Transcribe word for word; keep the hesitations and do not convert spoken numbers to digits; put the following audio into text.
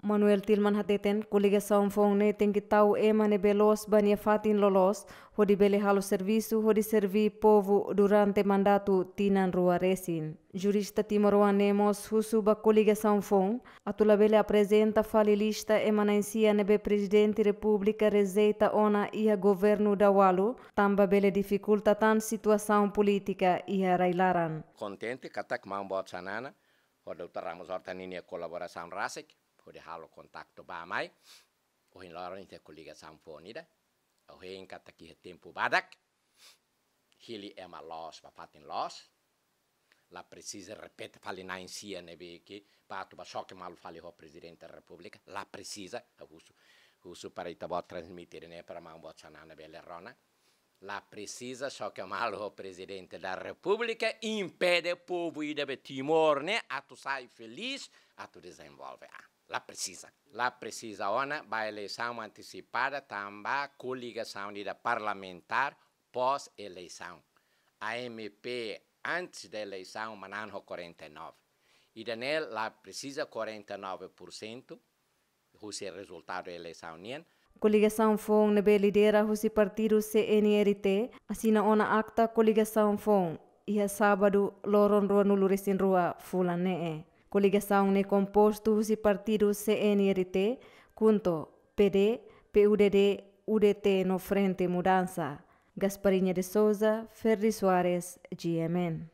Manuel Tilman hateten, koligasaun foun ne'e tenke tau ema ne'ebé loos ba nia fatin loloos, hodi bele halo servisu, hodi serví povu durante mandatu tinan rua resin. Jurista timoroan ne'e mós husu ba koligasaun foun, atu labele aprezenta fali lista ema na'in-sia ne'ebé Prezidente Repúblika rejeita ona iha governu daualu, tanba bele difikulta tan situasaun polítika iha rai-laran. Kontente katak maun boot Xanana ho doutór Ramos Horta ninia kolaborasaun rasik, hodi halo kontaktu ba mai. Ohin loron ita koligasaun foun ida. Ohin katak iha tempu badak. Hili ema loos ba fatin loos. La presiza repete fali na'in-sia ne'ebé ke, ba atu ba xoke malu fali ho Prezidente Repúblika. La presiza, husu, husu para ita-boot transmite ne'e para maun boot Xanana bele rona. La presiza xoke malu ho Prezidente da Repúblika, impede povu ida be Timor ne'e atu sai felís, atu dezenvolve an. La presiza. La presiza ona ba eleisaun antesipada tanba koligasaun ida parlamentár pós eleisaun. A M P antes da eleisaun manán ho quarenta e nove. Ida-ne'e la presiza quarenta e nove por cento husi rezultadu eleisaun nian. Koligasaun foun ne'ebé lidera husi partidu C N R T asina ona akta koligasaun foun iha sábadu loron ruanulu resin rua fulan ne'e. Koligasaun ne'e kompostu husi partidu C N R T, KHUNTO, P D, P U D D, U D T no Frente Mudansa. Gasparinha de Souza, Ferdi Soares, G M N.